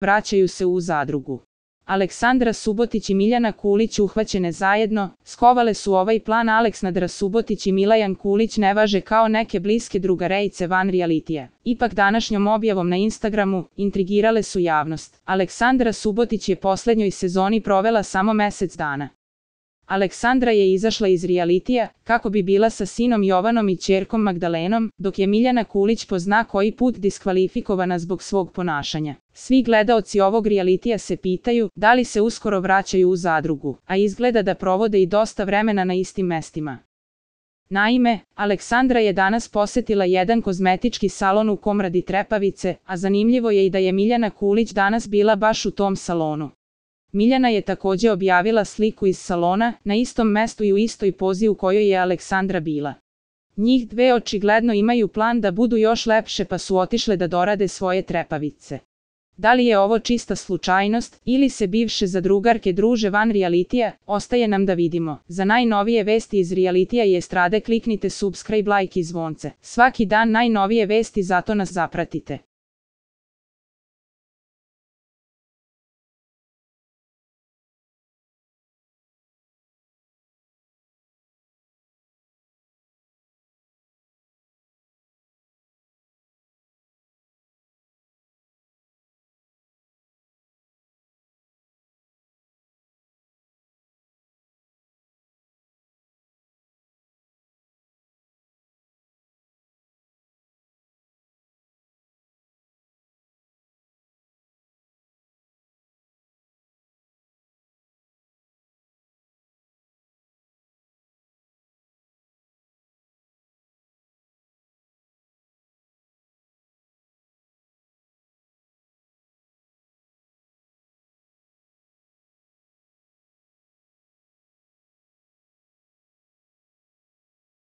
vraćaju se u zadrugu. Aleksandra Subotić i Miljana Kulić uhvaćene zajedno, skovale su ovaj plan. Aleksandra Subotić i Milajan Kulić ne važe kao neke bliske drugarejce van realitija. Ipak današnjom objavom na Instagramu intrigirale su javnost. Aleksandra Subotić je poslednjoj sezoni provela samo mesec dana. Aleksandra je izašla iz realitija kako bi bila sa sinom Jovanom i ćerkom Magdalenom, dok je Miljana Kulić po zna koji put diskvalifikovana zbog svog ponašanja. Svi gledaoci ovog realitija se pitaju da li se uskoro vraćaju u zadrugu, a izgleda da provode i dosta vremena na istim mestima. Naime, Aleksandra je danas posetila jedan kozmetički salon u Komradi Trepavice, a zanimljivo je i da je Miljana Kulić danas bila baš u tom salonu. Miljana je takođe objavila sliku iz salona, na istom mestu i u istoj pozi u kojoj je Aleksandra bila. Njih dve očigledno imaju plan da budu još lepše pa su otišle da dorade svoje trepavice. Da li je ovo čista slučajnost ili se bivše zadrugarke druže van realitija, ostaje nam da vidimo. Za najnovije vesti iz realitija i estrade kliknite subscribe, like i zvonce. Svaki dan najnovije vesti, zato nas zapratite.